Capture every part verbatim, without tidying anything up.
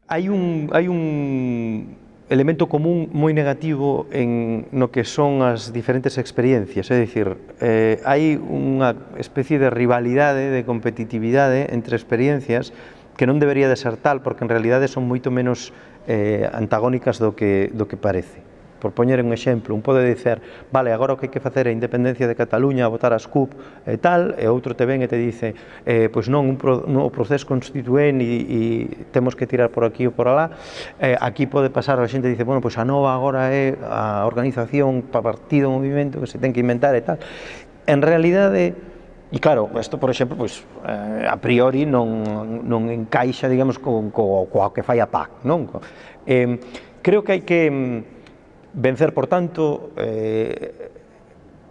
hai un, hai un elemento común moi negativo en no que son as diferentes experiencias, é dicir, eh, hai unha especie de rivalidade, de competitividade entre experiencias que non debería de ser tal, porque en realidade son moito menos eh, antagónicas do que, do que parece. Por poñer un exemplo, un pode dicer, vale, agora o que hai que facer é a independencia de Cataluña, votar as C U P e tal, e outro te ven e te dice, eh, pois non, un pro, no, o proceso constituente e, e temos que tirar por aquí ou por alá. Eh, aquí pode pasar, a xente dice, bueno, pois a nova agora é a organización, partido, movimento que se ten que inventar e tal. En realidade, e claro, isto, por exemplo, pois, eh, a priori non, non encaixa, digamos, co, co, coa que fai a P A C, non? Eh, creo que hai que vencer, por tanto, eh,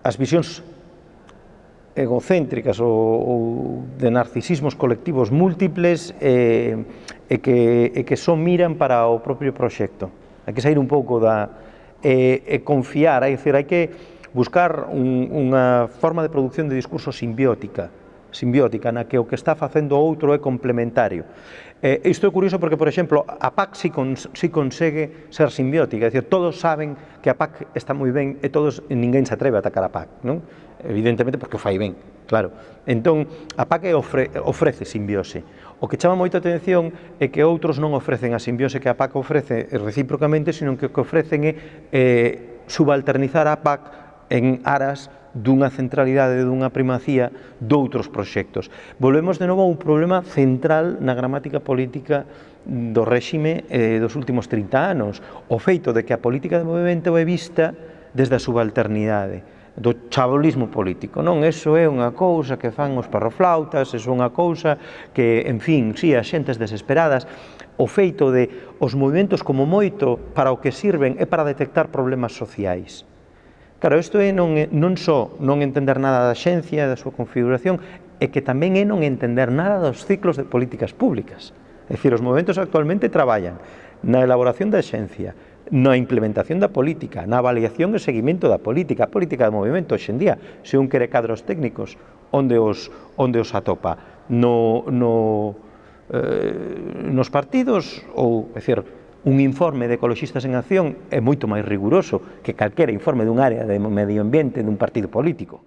as visións egocéntricas ou, ou de narcisismos colectivos múltiples eh, e, que, e que só miran para o propio proxecto. Hai que sair un pouco da... e, e confiar, é dicir, hai que buscar un, unha forma de produción de discurso simbiótica, simbiótica, na que o que está facendo o outro é complementario. Eh, isto é curioso porque, por exemplo, a P A C si, cons, si consegue ser simbiótica, é dicir, todos saben que a P A C está moi ben e todos, ninguén se atreve a atacar a P A C, non? Evidentemente porque o fai ben, claro. Entón, a P A C ofre, ofrece simbiose. O que chama moita atención é que outros non ofrecen a simbiose que a P A C ofrece recíprocamente, sino que o que ofrecen é eh, subalternizar a P A C en aras dunha centralidade, dunha primacía doutros proxectos. Volvemos de novo a un problema central na gramática política do réxime eh, dos últimos trinta anos, o feito de que a política de movimento é vista desde a subalternidade, do chabolismo político, non? Eso é unha cousa que fan os parroflautas, eso é unha cousa que, en fin, si, as xentes desesperadas, o feito de os movimentos como moito para o que sirven é para detectar problemas sociais. Claro, isto é non, non só non entender nada da xencia, da súa configuración, é que tamén é non entender nada dos ciclos de políticas públicas. É dicir, os movimentos actualmente traballan na elaboración da xencia, na implementación da política, na avaliación e seguimento da política, a política de movimento hoxe en día, se un quere cadros técnicos, onde os, onde os atopa? No, no, eh, nos partidos ou, é dicir, un informe de Ecoloxistas en Acción é moito máis riguroso que calquera informe dun área de medio ambiente dun partido político.